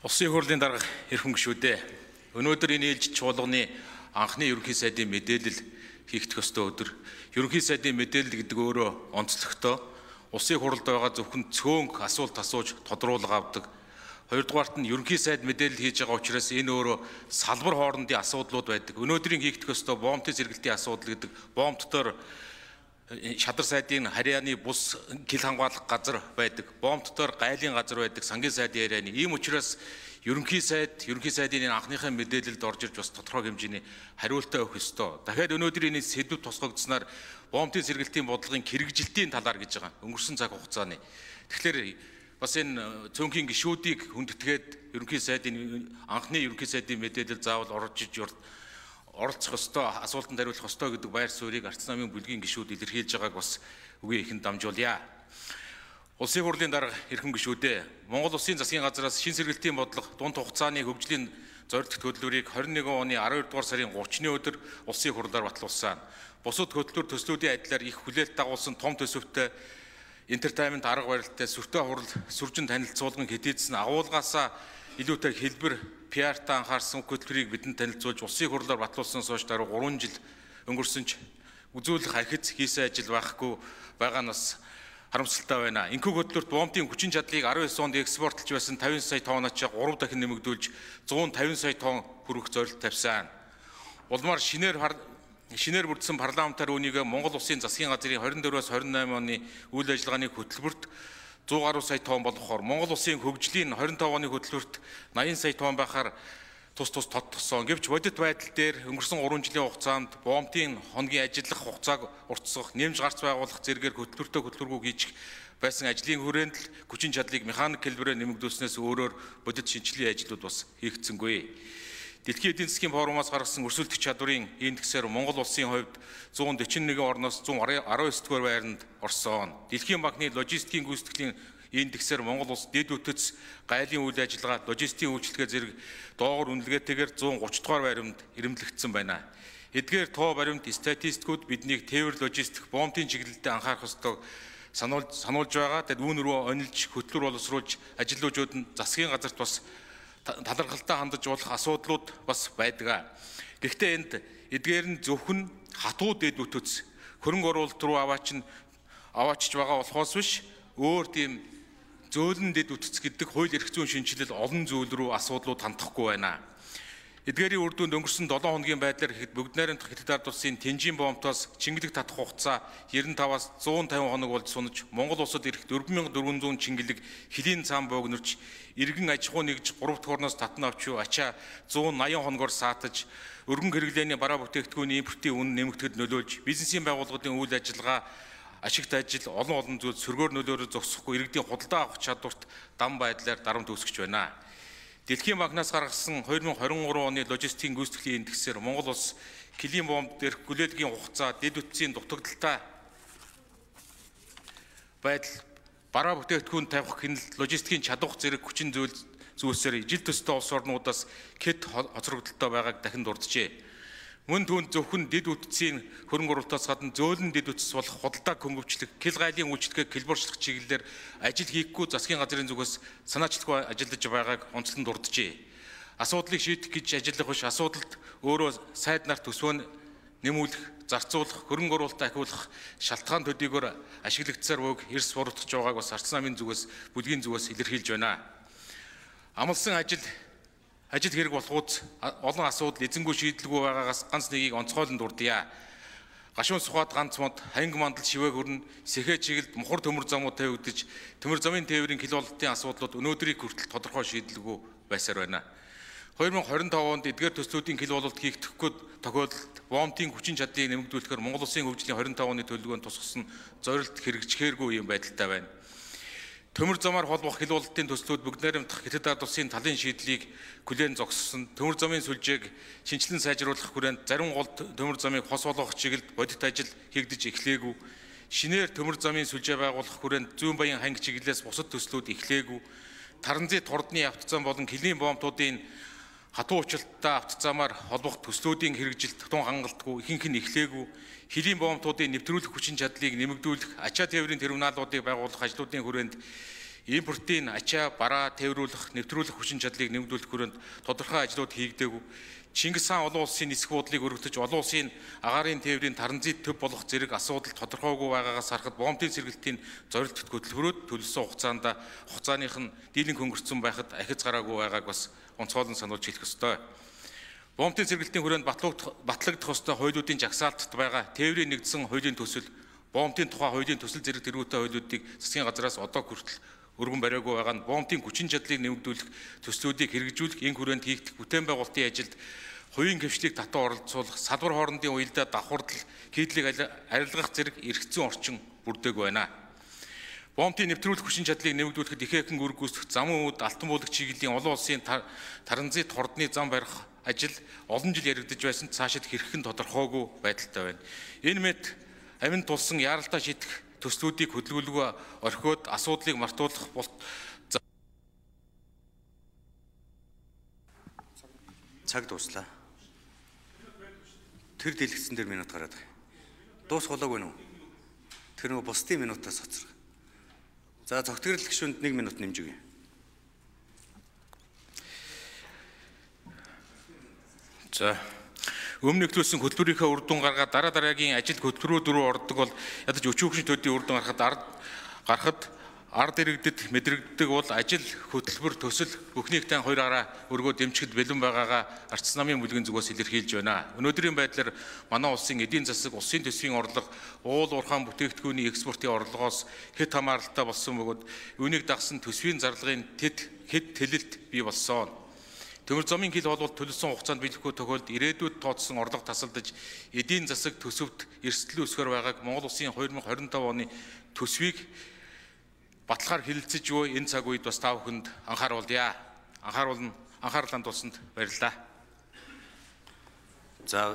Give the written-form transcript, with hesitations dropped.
Улсын хурлын дарга эрхэм гишүүдээ өнөөдөр энэ ээлжид чуулганы анхны ерөнхий сайдын мэдээлэл хийгдэх ёстой өдөр. Ерөнхий сайдын мэдээлэл гэдэг өөрөө онцлогтой улсын хурлд байгаа зөвхөн цөөнг асуулт асууж тодруулга авдаг. Хоёрдугаарт нь ерөнхий сайд мэдээлэл хийж байгаа учраас энэ өөрөө салбар хоорондын асуудлууд байдаг. Өнөөдрийн хийгдэх ёстой боомтын сэргэлтийн асуудал гэдэг боомттоор шадар сайдын харьяаны бус гил хамгаалах газар байдаг. Боомттоор гайлын газар байдаг. Сангийн сайдын харьяаны. Ийм учраас ерөнхий сайдын анхныхаа мэдээлэлд орж ирж бас тодорхой хэмжээний хариултаа өгөх ёстой. Дахиад өнөөдөр энэ сэдвүүд тусгагдсанаар боомтын сэргэлтийн бодлогын хэрэгжилтийн талаар гэж байгаа. Өнгөрсөн цаг хугацааны. Тэгэхээр бас энэ цөөнхийн гишүүдийг хүндэтгээд анхны ерөнхий сайдын мэдээлэл заавал оролцох ёстой, асуултанд хариулах ёстой гэдэг байр суурийг Арц намын бүлгийн гишүүд илэрхийлж байгааг бас үгүй ихэнд дамжуулъя. Улсын хурлын дарга эрхэм гишүүдээ Монгол Улсын засгийн газраас шин сэргэлтийн бодлого дунд хугацааны хөгжлийн зорилт хөтөлбөрийг 21 оны 12 дугаар сарын 30-ны өдөр улсын хурлаар батлуулсан. Бусад хөтөлбөр төслүүдийн адилаар их хүлээлт дагуулсан том төсөвтэй entertainment арга барилтай сүртэй хурал сүржин танилцуулгын хэдийдсэн агуулгаасаа илүүтэй хэлбэр PR-та анхаарсан хөтөлбөрийг бидэнд танилцуулж улсын хурлаар батлуулсан сууж дараа 3 жил өнгөрсөн ч үзүүлэх архиц хийсэн ажил байхгүй байгаа нь бас харамсалтай байна. Энэхүү хөтөлбөрт боомтын хүчин чадлыг 19 онд экспортлж байсан 50 сая тонноос 3 дахин нэмэгдүүлж 150 сая тонн хүрэх зорилт тавьсан. Улмаар шинээр бүрдсэн парламентаар үүнийг Монгол Улсын засгийн газрын 24-өөс 28 оны үйл ажиллагааны хөтөлбөрт 100 гаруй сая тонн болгохоор Монгол Улсын хөгжлийн 25 оны хөтөлбөрт 80 сая тонн байхаар тус тодтогсон. Гэвч бодит байдал дээр өнгөрсөн 3 жилийн хугацаанд боомтын хоногийн ажиллах хугацааг уртсгах, нэмж гарц байгуулах зэргээр хөтөлбөргүй хийж байсан ажлын хүрээнд л хүчин чадлыг механик хэлбэрээр нэмэгдүүлснээс өөрөөр бодит шинжилгээний ажлууд бас хийгдсэнгүй. Дэлхийн эдийн засгийн форумаас гаргасан өрсөлдөх чадварын индексээр Монгол Улсын хувьд 141 орноос 119 дугаар байранд орсон. Дэлхийн банкны логистикийн гүйцэтгэлийн индексээр Монгол Улс дэд үтц гайлын үйл ажиллагаа, логистикийн үйлчлэгээ зэрэг доогуур үнэлгээтэйгээр 130 дугаар байранд ирэмблэгдсэн байна. Эдгээр тоо баримт статистикууд биднийг тээвэр логистик, боомтын чиглэлдээ анхаарах ёстойг сануулж байгаа. Тэгэд үүн рүү онилж, хөтлөр боловсруулж ажилтнууд нь засгийн газарт бас талархалтай хандаж болох асуудлууд бас байдаг. Гэхдээ энд эдгээр нь зөвхөн хатуу дэд үтц хөрөнгө оруулалт руу аваачж байгаа болохоос биш өөр тийм зөөлөн дэд үтц гэдэг хууль эрх зүйн шинжилэл олон зүйл рүү асуудлууд хандахгүй байна. Эдгээрийн үр дүнд өнгөрсөн 7 хоногийн байдлаар гэхэд бүгд найрамдах Хятад ард улсын Тэнжин боомтоос чингэлэг татах хугацаа 95-аас 150 хоног болж сунаж Монгол улсад ирэх 4400 чингэлэг хөлийн цаан бөөгнөрч иргэн аж ахуй нэгж 3 дахь орноос татна авч ачаа 180 хоногор саатаж өргөн хэрэглээний бараа бүтээгдэхүүний импортын үнэ нэмэгдэхэд нөлөөлж бизнесийн байгууллагын үйл ажиллагаа ашигт ажил олон зүйл сөргөөр нөлөөрөөр зогсохгүй иргэдийн худалдаа авах чадварт дам байдлаар дарамт үүсгэж байна. Дэлхийн банкнаас гаргасан 2023 оны логистикийн гүйцэтгэлийн индексээр Монгол улс килийн боомт дээрх хүлээлгийн хугацаа, дэд үтцийн дутагдaltaй байдал, бараа бүтээгдэхүүн тавих хяналт, логистикийн чадвах зэрэг хүчин зүйлсээр ижил төстэй улс орнуудаас хэд хоцрогдолтой байгааг дахин дурджээ. Мөн түүнд зөвхөн дэд үтцийн хөрөнгө оруулалтаас гадна зөөлөн дэд үтц болох худалдаа хөнгөвчлөх, кил гайлын үйлчлэгээ хэлбэрчлэх чиглэлээр ажил хийхгүй засгийн газрын зүгээс санаачлаггүй ажиллаж байгааг онцлон дурджээ. Асуудлыг шийдэх гэж ажиллах биш, асуудалд өөрөө сайд нарт төсвөө нэмүүлэх, зарцуулах, хөрөнгө оруулалт ахиулах шалтгаан төдийгөөр ашиглагдсаар буйг эрс буруутгаж байгааг бас Арц намын зүгээс, бүлгийн зүгээс илэрхийлж байна. Амлсан ажил хэрэг болохуц олон асуудал эзэнгүй шийдэлгүй байгаагаас ганц нэгийг онцгойлон дурдъя. Гашуун сухад ганц мод, ханги мандал шивээ хөрн, сэхэ чиглэлд мухар төмөр замууд тавигдаж, төмөр замын тээврийн киловаттын асуудлууд өнөөдрийг хүртэл тодорхой шийдэлгүй байсаар байна. 2025 онд эдгээр төслүүдийн киловатт хийгдэхгүй тохиолдолд боомтын хүчин чадлыг нэмэгдүүлэхээр Монгол Улсын хөгжлийн 25 оны төлөвлөгөөнд тусгасан зорилт хэрэгжихээргүй юм байдалтай байна. Төмөр замаар холбох киловаттын төслүүд бүгд найрамдах Хятад ард улсын талын шийдлийг хүлээн зогссон. Төмөр замын сүлжээг шинжилэн сайжруулах хүрээнд зарим гол төмөр замыг хос болгох чиглэлд бодит ажил хийгдэж эхлээгүй. Шинээр төмөр замын сүлжээ байгуулах хүрээнд зүүн баян ханги чиглэлээс бусад төслүүд эхлээгүй. Таранзит хурдны автозам болон килийн боомтуудын хатуу учирттай автозамаар холбох төслүүдийн хэрэгжилт тун хангалтгүй, ихэнх нь эхлээгүй. Хөлийн боомтуудын нэвтрүүлэх хүчин чадлыг нэмэгдүүлэх, ачаа тээврийн терминалуудыг байгуулах ажлуудын хүрээнд импортын ачаа бараа тээврүүлэх, нэвтрүүлэх хүчин чадлыг нэмэгдүүлэх хүрээнд тодорхой ажлууд хийгдээгүй. Чингис хаан олон улсын нисэх буудлыг өргөдөж олон улсын агаарын тээврийн транзит төв болох зэрэг асуудал тодорхойгүй байгаагаас харахад бомбын сэргэлтийн зорилт хөтөлбөрөд төлөвлөсөн хугацааных нь дийлэнх өнгөрцөн байхад ахиц гараагүй байгааг бас онцгойлон сануулж хэлэх ёстой. Бомбын сэргэлтийн хүрээнд батлагдах ёстой хуулиудын жагсаалтад байгаа тээврийн нэгдсэн хуулийн төсөл, бомбын тухай хуулийн төсөл зэрэг тэргүүтэй хуулиудыг засгийн газраас одоо хүртэл өргөн бариагүй байгаа нь бомбын хүчин чадлыг нэмэгдүүлэх төслүүдийг хэрэгжүүлэх, энэ хүрээнд хийгдэх бүтээн байгуулалтын ажилд хувийн гэрчлэлийг татан оролцуулах, салбар хоорондын уялдаа давхардал, хийдлийг арилгах зэрэг эргэцэн орчин бүрдээгүй байна. Бомбын нэвтрүүлэх хүчин чадлыг нэмэгдүүлэхэд их хэкэн үр гүйцэтгэх замун үд алтан буулгах чиглэлийн олон улсын транзит хордны зам барих ажил олон жил яригдж байсан цаашид хэрхэн тодорхойгүй байдалтай байна. Энэ мэт аминд тулсан яаралтай шийдэх төслүүдийг хөдөлгөөлгүй орхиод асуудлыг мартуулах цаг дуслаа. Тэр дэлгэцэн дээр минут гараад байгаа. Дуусгалаагүй нү? Тэр нөгөө бусдын минутаас хоцрох. За цогтгөрөл гишүүнд 1 минут нэмж өгье. За өмнө нэвтрүүлсэн хөтөлбөрийнхөө үр дүн гаргаад дараагийн ажил хөтөлбөрүүд рүү ордог бол ядаж өчүүгшин төдийн үр дүн гарахад ард иргэдэд мэдрэгддэг бол ажил хөтөлбөр төсөл бүхнийг тань хоёр гараа өргөө дэмжихэд бэлэн байгаагаа арчс намын бүлгийн зүгээс илэрхийлж байна. Өнөөдрийн байдлаар манай улсын эдийн засаг, улсын төсвийн орлого, уул уурхайн бүтээгдэхүүний экспортын орлогоос хэд хамааралтай болсон бөгөөд үүнийг дагсан төсвийн зарлагын хэд тэлэлт бий болсон. Төмөр замын хил болвол төлөвлөсөн хугацаанд биелэхгүй тохиолдолд ирээдүйд тооцсон орлого тасалдаж эдийн засаг төсөвт эрсдэл үүсгэр байгааг Монгол Улсын 2025 оны төсвийг баталгаар хэлэлцэж буй энэ цаг үед бас та бүхэнд анхааруулъя. Анхаарал хандуулсанд баярлалаа. За